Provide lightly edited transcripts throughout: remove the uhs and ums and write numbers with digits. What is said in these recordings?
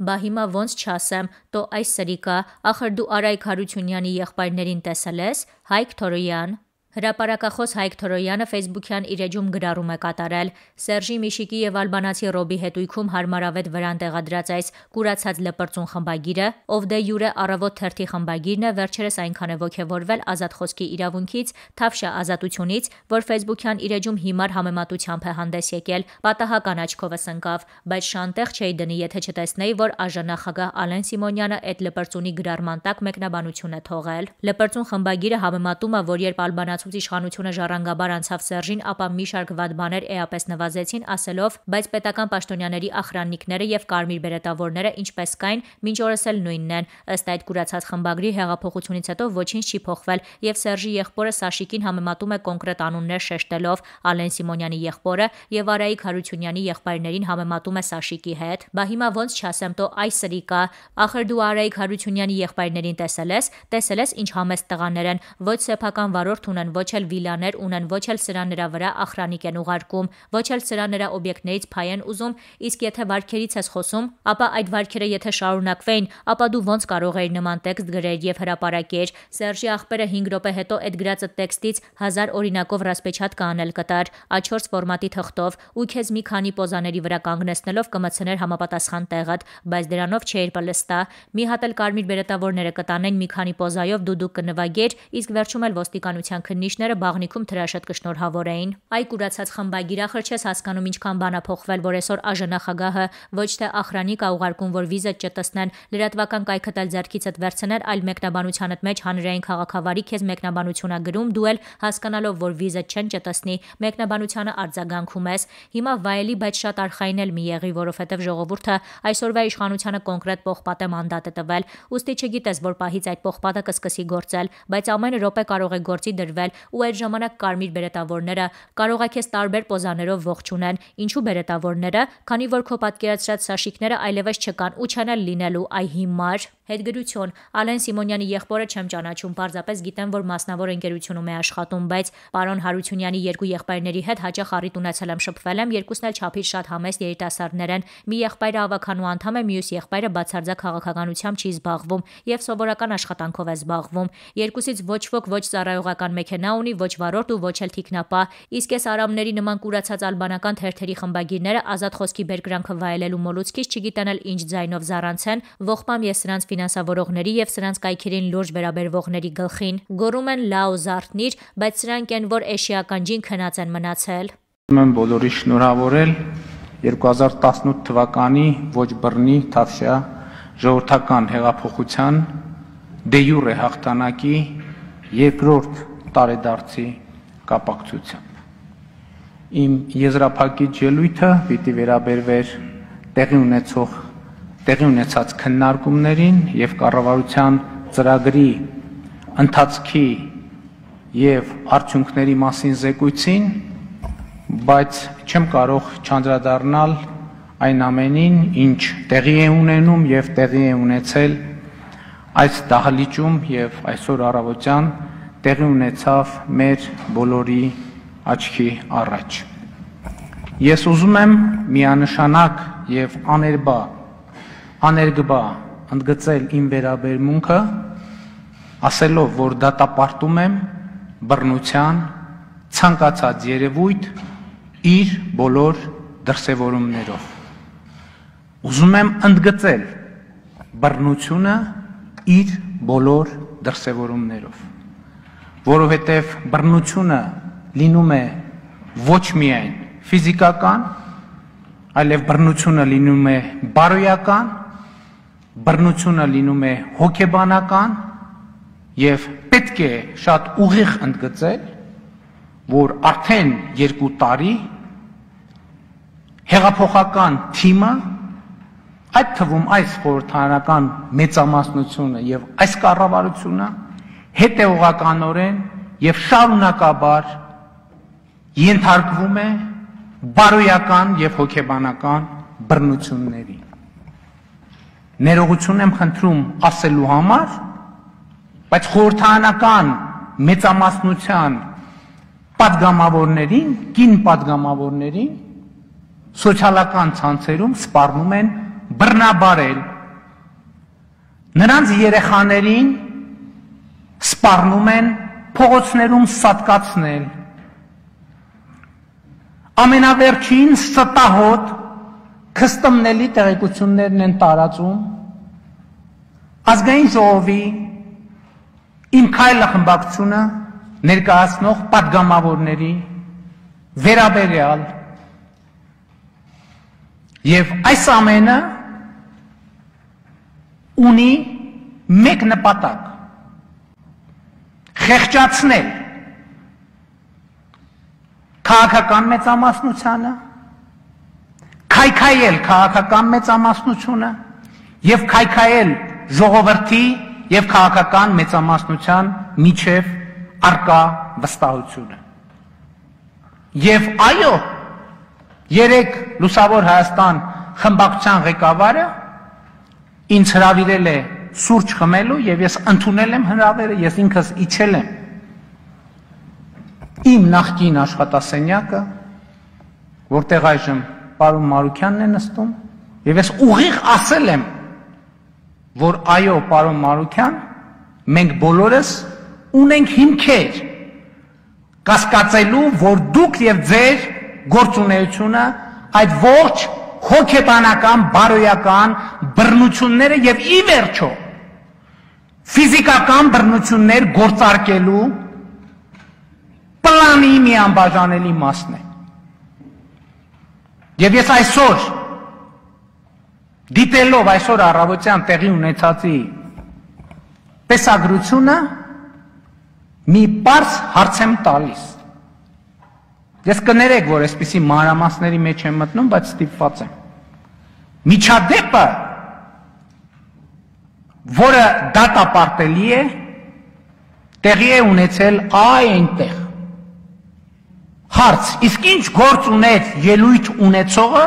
Բա հիմա ոնց չասեմ, տո այս սրիկա, ախր դու Արայք Հարությունյանի եղբայրներին տեսել ես, Հայկ Թորոյան։ Հրապարակախոս Հայկ Թորոյանը Facebook-յան իր էջում գրառում է կատարել. Սերժի Միշիկի եւ ալբանացի Ռոբի հետույքում հարմարավետ վրան տեղադրած այս կուրացած լպրծուն խմբագիրը, ով դե յուրե առավոտ թերթի խմբագիրն է, վերջերս այնքան է ոգևորվել ազատ խոսքի իրավունքից, Թավշյա ազատությունից, որ Facebook-յան իր էջում հիմար համեմատությամբ է հանդես եկել, պատահական աչքովս ընկավ, բայց շանտեղ չէի դնի, եթե չտեսնեի, որ ԱԺ-նախագահ Ալեն Սիմոնյանը այդ լպրծունի գրառման տակ մեկնաբանություն է թողել։ Լպրծուն խմբագիրը համեմատում է, որ երբ ալբանացուց իշխանությունը ժառանգաբար անցավ Սերժին, ապա մի շարք վատ բաներ էապես նվազեցին, ասելով, բայց պետական պաշտոնյաների ախրաննիկները եւ կարմիր բերետավորները ինչպես կային, մինչ օրս էլ նույնն են։ Ըստ այդ կուրացած խմբագրի հեղափոխությունից հետո ոչինչ չի փոխվել եւ Սերժի եղբորը Սաշիկին համեմատում է կոնկրետ անուններ շեշտելով Ալեն Սիմոնյանի եղբորը եւ Արայիկ Հարությունյանի եղբայրներին համեմատում է Սաշիկի հետ։ Բա հիմա ոնց չասեմ, տո այս սրիկա, ախր դու Արայիկ Հարությունյանի եղբայրներին տեսել ես ինչ համեստ տղաներ են, ոչ սեփական վարորդ ունեն, ոչ էլ վիլաներ ունեն, ոչ էլ սրա նրա վրա ախրանիկ են ուղարկում, ոչ էլ սրա նրա օբյեկտներից փայ են ուզում, իսկ եթե վարքերից ես խոսում, ապա այդ վարքերը եթե շարունակվեին, ապա դու ոնց կարող էիր նման տեքստ գրել եւ հրապարակել։ Սերժի ախպերը 5 րոպե հետո այդ գրածը տեքստից 1000 օրինակով ռասպեչատ կանել կտար A4 ֆորմատի թղթով ու քեզ մի քանի պոզաների վրա կանգնեցնելով կմցներ համապատասխան տեղդ, բայց դրանով չէր պլստա։ Մի հատ էլ կարմիր բերետավորները կտանեն մի քանի պոզայով դուդուկ կնվագեր, իսկ վերջում էլ ոստիկանության քննիչները բաղնիքում թրաշատ կշնորհավորեին։ Այ կուրացած խմբագիր, ախր չես հասկանում ինչքան բան է փոխվել, որ այսօր ԱԺ-նախագահը ոչ թե ախրանիկ ա ուղարկում, որ վիզը չտեսնեն, լրատվական կայքդ էլ ձեռքիցդ վերցնել, այլ մեկնաբանությանդ մեջ հանրային քաղաքավարի քեզ մեկնաբանություն ա գրում, դու էլ հասկանալով, որ վիզը չեն չտեսնի, մեկնաբանությանը արձագանքում ես։ Հիմա վայելի, բայց շատ արխային էլ մի եղի, որովհետև ժողովուրդը այսօրվա իշխանությանը կոնկրետ պողպատե մանդատ է տվել, ուստի չգիտես, որ պահից այդ պողպատը կսկսի գործել, բայց ամեն րոպե կարող է գործի դրվել ու այդ ժամանակ կարմիր բերետավորները կարող է քեզ տարբեր պոզաներով ողջունեն, ինչու բերետավորները, քանի որ քո պատկերացրած Սաշիկները այլևս չկան ու չեն էլ լինելու, այ հիմար։ Հետգրություն Ալեն Սիմոնյանի եղբորը չեմ ճանաչում, պարզապես գիտեմ, որ մասնավոր ընկերությունում է աշխատում, բայց պարոն Հարությունյանի երկու եղբայրների հետ հաճախ առիթ ունեցել եմ, շփվել եմ, երկուսն էլ չափից շատ համեստ երիտասարդներ են։ Մի եղբայրը ավականու անդամ է, մյուս եղբայրը բացարձակ քաղաքականությամբ չի զբաղվում եւ սովորական աշխատանքով է զբաղվում։ Երկուսից ոչ ոք ոչ ծառայողական մեքենա ունի, ոչ վարորդ ու ոչ էլ թիկնապա, իսկ այս արամների նման կուրացած ալբանական թերթերի խմբագիրները ազատ խոսքի բերկրանքը վայելելու մոլուցքից չգիտեն էլ ինչ ձայնով զառանցեն, ողբամ ես սրանց ֆինանսավորողների եւ սրանց կայքերին լուրջ վերաբերվողների գլխին, գոռում են լաո զարթնիր, բայց սրանք են, որ էշիական ջին քնած են մնացել։ Եմ բոլորի շնորհավորել 2018 թվականի ոչ բռնի Թավշյա ժողովրդական հեղափոխության դե յուրե հաղթանակի երկրորդ տարեդարձի կապակցությամբ։ Իմ եզրափակիչ ելույթը պիտի վերաբերվեր տեղի ունեցած քննարկումներին եւ կառավարության ծրագրի ընթացքի եւ արդյունքների մասին զեկույցին, բայց չեմ կարող չանդրադառնալ այն ամենին, ինչ տեղի է ունենում եւ տեղի է ունեցել այս դահլիճում եւ այսօր առավոտյան տեղի ունեցավ մեր բոլորի աչքի առաջ։ Ես ուզում եմ միանշանակ եւ աներկբա ընդգծել իմ վերաբերմունքը, ասելով, որ դատապարտում եմ բռնության ցանկացած երևույթ իր բոլոր դրսևորումներով։ Ուզում եմ ընդգծել բռնությունը իր բոլոր դրսևորումներով, որովհետև բռնությունը լինում է ոչ միայն ֆիզիկական, այլև բռնությունը լինում է բարոյական, բռնությունը լինում է հոգեբանական եւ պետք է շատ ուղիղ ընդգծել, որ արդեն 2 տարի հեղափոխական թիմը, այդ թվում այս խորհրդարանական մեծամասնությունը եւ այս կառավարությունը հետեւողականորեն եւ շարունակաբար ենթարկվում է բարոյական եւ հոգեբանական բռնությունների։ Ներողություն եմ խնդրում ասելու համար, բայց խորհրդարանական մեծամասնության պատգամավորներին, կին պատգամավորներին սոցիալական ցանցերում սպառնում են բռնաբարել նրանց երեխաներին սպառնում են փողոցներում սատկացնել։ Ամենավերջին ստահոդ քստմնելի տեղեկություններն են տարածում ազգային ժողովի Իմ քայլը խմբակցությունը ներկայացնող պատգամավորների վերաբերյալ եւ այս ամենը ունի մեկ նպատակ խեղճացնել քաղաքական մեծամասնությանը քայքայել քաղաքական մեծամասնությունը եւ քայքայել ժողովրդի եւ քաղաքական մեծամասնության միջև արկա վստահությունը եւ այո երեք Լուսավոր Հայաստան խմբակցության ղեկավարը ինձ հրավիրել է սուրճ խմելու եւ ես ընդունել եմ հրավերը ես ինքս իջել եմ իմ նախկին աշխատասենյակը որտեղ այժմ պարոն Մարուքյանն է նստում եւ ես ուղիղ ասել եմ որ այո պարոն Մարուքյան մենք բոլորս ունենք հիմքեր կասկածելու որ դուք եւ ձեր գործունեությունը այդ ողջ հոգեբանական բարոյական բռնությունները եւ ի վերջո ֆիզիկական բռնություններ գործարկելու պլանի մի անբաժանելի մասն է եւ ես այսօր դիտելով այսօր առավոտյան տեղի ունեցածի տեսագրությունը մի պարզ հարց եմ տալիս ես կներեք որ այսպիսի մանրամասների մեջ եմ մտնում բայց ստիպված եմ միջադեպը որը դատապարտելի է տեղի է ունեցել այնտեղ հարց իսկ ինչ գործ ուներ ելույթ ունեցողը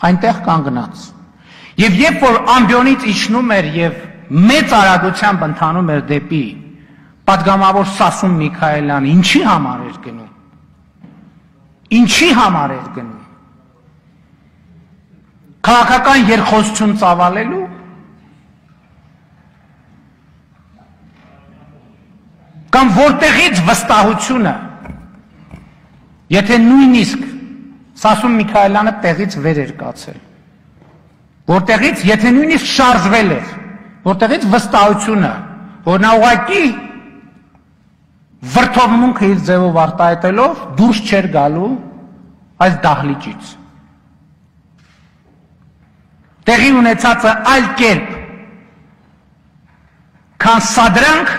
այնտեղ կանգնած Եվ երբ որ ամբիոնից իջնում էր եւ մեծ արագությամբ ընթանում էր դեպի պատգամավոր Սասուն Միքայելյանը, ինչի համար էր գնում։ Ինչի համար էր գնում։ Քաղաքական երկխոսություն ծավալելու կամ որտեղից վստահությունը, եթե նույնիսկ Սասուն Միքայելյանը տեղից վեր էր կացել որտեղից եթե նույնիսկ շարժվել էր որտեղից վստահությունը որ նա ուղղակի վրթովմունքը իր ձևով արտահայտելով դուրս չէր գալու այս դահլիճից տեղի ունեցածը այլ կերպ քան սադրանք